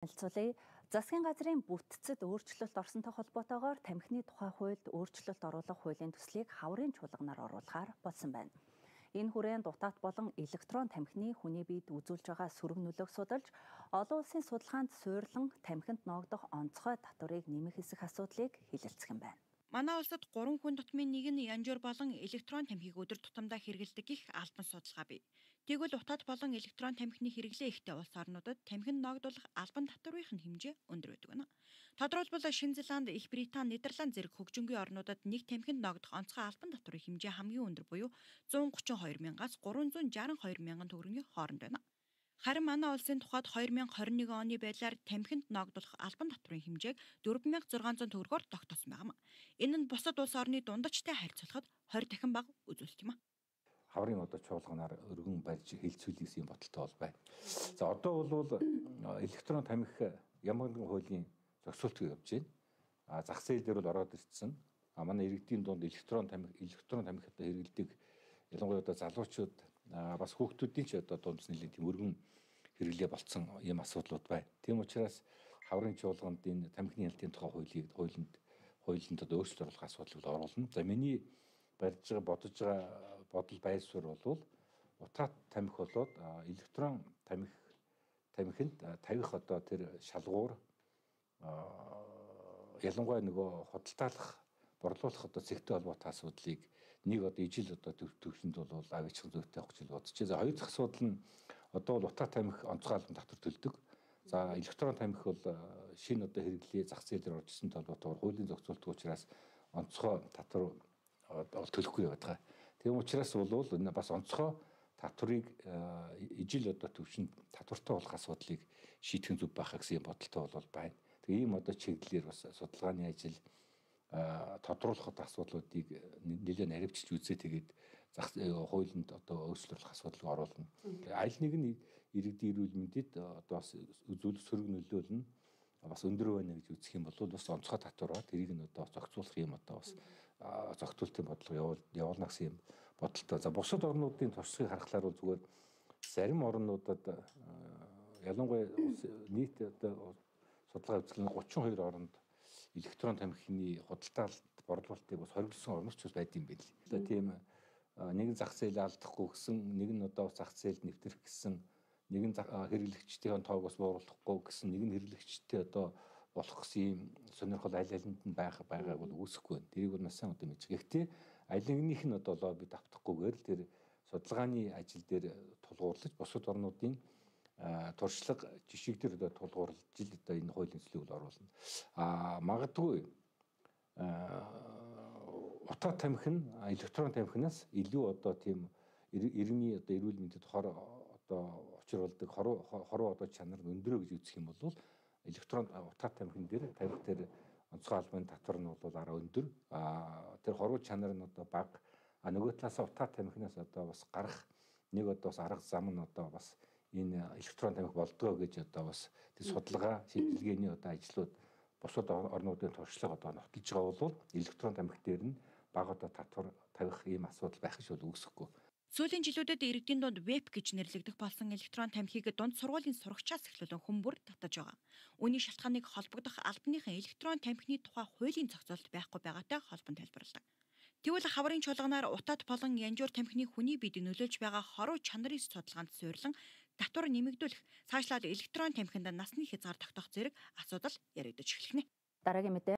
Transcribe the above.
Танилцуулъя. Засгийн газрын бүтцэд өөрчлөлт орсонтой холбоотойгоор тамхины тухай хуульд өөрчлөлт оруулах хуулийн төслийг хаврын чуулганаар оруулахаар болсон байна. Энэ хүрээнд утаат болон электрон тамхины хүний биед үзүүлж байгаа сөрөг нөлөөг судалж, олон улсын судалгаанд суйрлан тамхинд ноогдох онцгой татварыг нэмэх хэсэх асуудлыг хэлэлцэх юм байна. Манай улсад 3 хүн тутмын нэг нь янжуур болон электрон тамхиг өдөр тутамдаа хэрэглэдэг гэх албан судалгаа бий. Тэгвэл утаат болон электрон тамхины хэрэглээ ихтэй улс орнуудад тамхинд ногдуулах албан татврын хэмжээ өндөр байдаг байна. Тодорхойлбол Шинэ Зеланд, Их Британи, Нидерланд зэрэг хөгжингүй орнуудад нэг тамхинд ногдох онцгой албан татврын хэмжээ хамгийн өндөр буюу 132,000-аас 362,000 төгрөгийн хооронд байна. Харин манай улсын тухайд 2021 оны байдлаар тамхинд ногдуулах албан татврын хэмжээг 4,600 төгрөгөөр тогтоосон байна. Энэ нь бусад улс орны дундачтай харьцуулахад 20 дахин бага үзүүлэлт юм. Хаврын чуулганаар өргөн барьж хилцүүлсэн бодолтой бол байна. За одоо бол электрон тамхи ямар нэгэн хуулийн зохицуултыг явж байна. Зах зээл дээр бол ороод ирсэн. Манай иргэдийн дунд электрон тамхи одоо хэрэглэдэг ялангуяа одоо залуучууд бас хүүхдүүдийн ч одоо дунд нэлийн тийм өргөн хэрэглээ болцсон ийм асуудлууд байна. Тийм учраас хаврын чуулганд энэ тамхины ялтын тухай хуулинд одоо өөрчлөлт оруулах асуудлыг оруулна. За миний бодож байгаа бодол байсвар бол утаат тамхи болоод электрон тамхинд тавих одоо тэр шалгуур ялангуяа нөгөө худалдаалах борлуулах одоо зэгтэй холбоотой асуудлыг нэг одоо ижил одоо төвшөнд бол аваачих зүйтэй авах гэж бодож байна. За хоёр дахь асуудал нь одоо бол утаат тамхи онцгой албан татвар төлдөг. За электрон тамхи бол шинэ одоо хэрэглээ зах зээлээр орж ирсэнтэй холбоотойгоор хуулийн зохицуулт учраас онцгой татвар төлөхгүй байдаг. Тийм учраас бол энэ бас онцгой татварыг ижил одоо төвшөнд татвартай болох асуудлыг шийдэх зүг байх гэсэн бодолтой бол байна. Тэгээ ийм одоо чиглэлээр бас судалгааны ажил тодруулах асуудлуудыг нэлээд наривчилж үзээ тэгээд хуулинд одоо өөрчлөлт асуудлыг оруулна. Аль нэг нь иргэдийн эрүүл мэндэд одоо бас үзүүлэх сөрөг нөлөөл нь бас өндөр байна гэж үзэх юм бол бас онцгой татвар тэрийг нь одоо зохицуулах юм одоо бас зохицуултын бодлого явуулна гэсэн юм бодолтой. За бусад орнуудын туршлагыг харахаар бол зүгээр зарим орнуудад ялангуяа нийт одоо судалгаа үзүүлэн 32 орнд электрон тамхины худалдаалт борлуулалтыг бас хориглосон орнууд ч байд юм байл. Одоо тийм нэгэн зах зээл алдахгүй гэсэн, нэг нь одоо зах зээлд нэвтрэх гэсэн, нэгэн хэрэглэгчдийн тоог бас бууруулахгүй гэсэн, нэг нь хэрэглэгчтэй одоо болох гэсэн юм сонирхол аль алинд нь байгааг бол үүсэхгүй байна. Тэрийг бол маш сайн одоо мэдж. Гэхдээ аль нэгнийх нь одоо лоббид автахгүйгээр л тэр судалгааны ажил дээр тулгуурлаж бусад орнуудын туршлага жишг дээр одоо тулгуурлаж одоо энэ хуулийн төслийг оруулна. Магадгүй утаат тамхи нь электрон тамхинаас илүү одоо тийм иргэний одоо эрүүл мэндэд одоо учруулдаг хоруу одоо чанар нь өндрөө гэж үзэх юм бол электрон утаат тамхин дээр тавих тэр онцгой албан татвар нь бол арай өндөр. Тэр хоруу чанар нь одоо бага. Нөгөө талаас утаат тамхинаас одоо бас гарах нэг одоо бас арга зам нь одоо бас энэ электрон тамхи болдгоо гэж одоо бас тэр судалгаа шийдвэрлэгээний одоо ажлууд бусад орнуудын туршлага одоо нотолж байгаа бол электрон тамхи дээр нь бага одоо татвар тавих ийм асуудал байх гэж бол үүсэхгүй. Сүүлийн жилүүдэд иргэдийн дунд веб гэж нэрлэгдэх болсон электрон тамхиг дунд сургуулийн сурагчаас эхлүүлэн хүмүүр татаж байгаа. Үүний шалтгааныг холбогдох албаныхан электрон тамхины тухай хуулийн зохицуулалт байхгүй байгаатай холбон тайлбарладаг. Тэгвэл хаврын чуулганаар утаат болон янжуур тамхины хүний биед нөлөөлж байгаа хоруу чанарын судалгаанд суйрлан татвар нэмэгдүүлэх, цаашлаад электрон тамхинд насны хязгаар тогтоох зэрэг асуудал яригдаж эхэлнэ. Дараагийн мэдээ